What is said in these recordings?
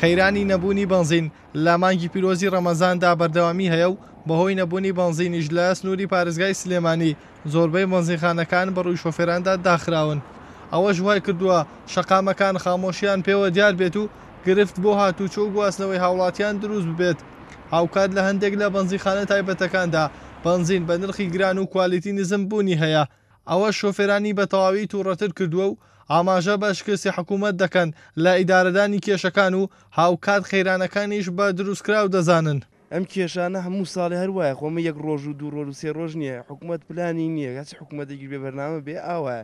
قەیرانی نەبوونی بەنزین لە مانگی پیرۆزی ڕەمەزاندا بەردەوامی هەیە و بەهۆی نەبوونی بەنزینیش لە سنووری پارێزگای سلێمانی زۆربەی بەنزینخانەکان بەڕووی شۆفێراندا داخراون، ئەوەش وایکردووە شەقامەکان خامۆشیان پێوە دیار بێت و گرفت بۆ هاتووچۆ و گواستنەوەی هاوڵاتیان دروست ببێت. هاوکات لە هەندێک لە بەنزینخانە تایبەتەکاندا بەنزین بە نرخی گران و کوالیتی نزم بوونی هەیە، ئەوەش شۆفێرانی بە تەواوی توڕەتر کردووە و ئاماژە بە شکستی حکومەت دەکەن لە ئیدارەدانی کێشەکان و هاوکات قەیرانەکانیش بە دروستکراو دەزانن. ئەم کێشانە هەموو ساڵێ هەر وایە، خۆ ئەمە یەک ڕۆژ و دوو ڕۆژ و سێ ڕۆژ نییە، حکومەت پلانی نییە، هەرچ حکومەتێکیش بێ بەرنامە بێ ئاوایە،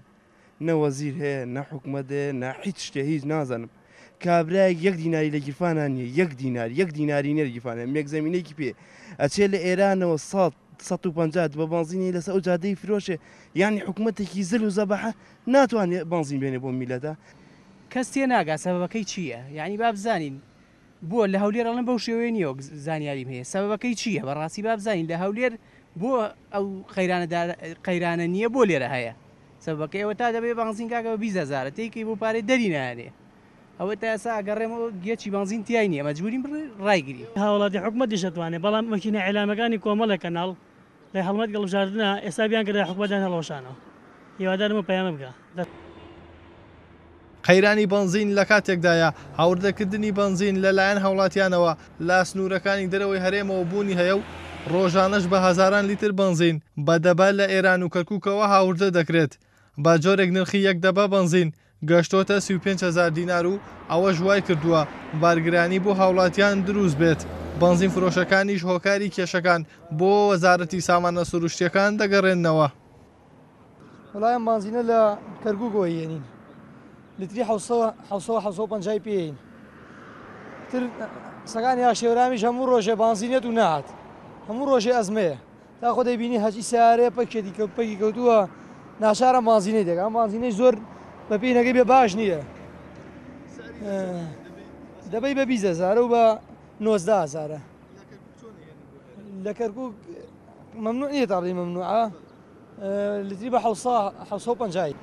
نە وەزیر هەیە، نە حکومەت هەیە، نە هیچ شتێ، هیچ نازانم. کابرایەک یەک دیناری لە گیرفانا نییە، یەک دینار، یەک دیناری نییە لە گیرفانیا، مێکزەمینێکی پێ ئەچێ لە ئێرانەوە سەد، 150 بە بەنزینی لەسەر ئەو جادەی فرۆشێ، یانی حکومەتێکی زل و زەبەحە ناتوانێ بەنزین بێنێ بۆ میللەتە. کەس تێناگا سەبەبەکەی چییە؟ یانی با بزانین بۆ لە هەولێر ئەڵێن بەو شێوەیە نییە وەک زانیاریم هەیە سەبەبەکەی چییە؟ بەڕاستی با بزانین لە هەولێر بۆ ئەو قەیرانە قەیرانە نییە بۆ لێرە هەیە؟ سەبەبەکەی ئەوە تا دەبێ بەنزین کاکە بە 20 هەزارە تێیکەی بۆ پارەی دەری نایەنێ ئەوە تا ئێستا ئەگەڕێمەوە گێچی بەنزین تیای نییە مەجبورین ڕایگرین. هاوڵاتی حکومەتیش ئەتوانێ بەڵام مەکینە ئیعلامەکانی کۆمەڵێک کەناڵ لە هەڵمەت گەڵبژاردنا ئێستا بیان کردە حکومەتیان هەڵوەشانەوە هیوادارم ئەو پەیامە بگا دەست. قەیرانی بەنزین لە کاتێکدایە، هاوردەکردنی بەنزین لەلایەن هاوڵاتیانەوە لە سنوورەکانی دەرەوەی هەرێمەوە بوونی هەیە و ڕۆژانەش بە هەزاران لیتر بەنزین بە دەبە لە ئێران و کەرکوکەوە هاوردە دەکرێت، بە جۆرێک نرخی یەک دەبە بەنزین گەشتۆتە 35 هەزار دینار و ئەوەش وایکردووە بارگرانی بۆ هاوڵاتیان دروست بێت، بەنزین فرۆشەکانیش هۆکاری کێشەکان بۆ وەزارەتی سامانە سروشتییەکان دەگەڕێننەوە. وەڵا ئەم بانزینە لە کەرکوکەوە یێنین لتری 750 پێین تر قسەکانی ئاشێورامیش هەموو ڕۆژێ بانزینێت و نەهات هەموو ڕۆژێ ئەزمەیە تا خۆ دەیبینی هەچی سیارەیە پەکێتی کە پەکی کەوتووە ناچارە بانزینەی دەکە ئەم بانزینەی زۆر بە پێینەکەی بێ باش نییە دەبەی بە 20 هەزارە و بە 19 هەزارە لە کەرکوک ممنوع نییە تا بڵێی ممنوعە لتری بە حەوسە و پەنجای.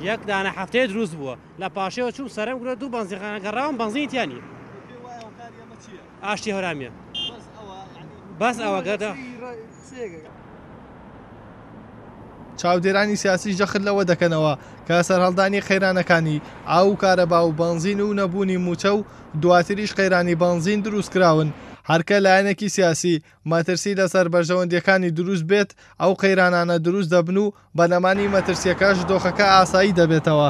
یەک دانە هەفتەیە دروست بووە لە پاشەوە چووم سەرم گرت دوو بەنزینخانە گەڕاوم بەنزینی تیا نییە ئاشتی هەورامیە بەس ئەوە گەدە. چاودێرانی سیاسیش جەخت لەوە دەکەنەوە کە سەرهەڵدانی قەیرانەکانی ئاو و کارەبا و بەنزین و نەبوونی مووچە و دواتریش قەیرانی بەنزین دروستکراون، هەرکە لایەنێکی سیاسی مەترسی لەسەر بەرژەوەندییەکانی دروست بێت، ئەو قەیرانانە دروست دەبن و بە نەمانی مەترسییەکەش دۆخەکە ئاسایی دەبێتەوە.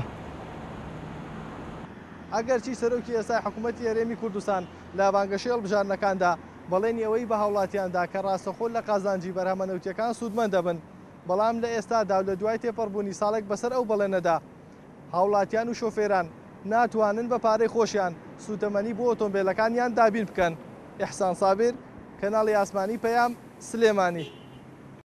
ئەگەرچی سەرۆکی ئێستای حکومەتی هەرێمی کوردستان لە بانگەشەی هەڵبژاردنەکاندا بەڵێنی ئەوەی بە هاوڵاتیان دا کە ڕاستەخۆ لە قازانجی بەرهەمە نەوتییەکان سوودمەند دەبن، بەڵام لە ئێستادا و لە دوای تێپەڕبوونی ساڵێک بەسەر ئەو بەڵێنەدا، هاوڵاتیان و شۆفێران ناتوانن بە پارەی خۆشیان سووتەمەنی بۆ ئۆتۆمبێلەکانیان دابین بکەن. ئیحسان سابیر، کەناڵی ئاسمانی پەیام، سلێمانی.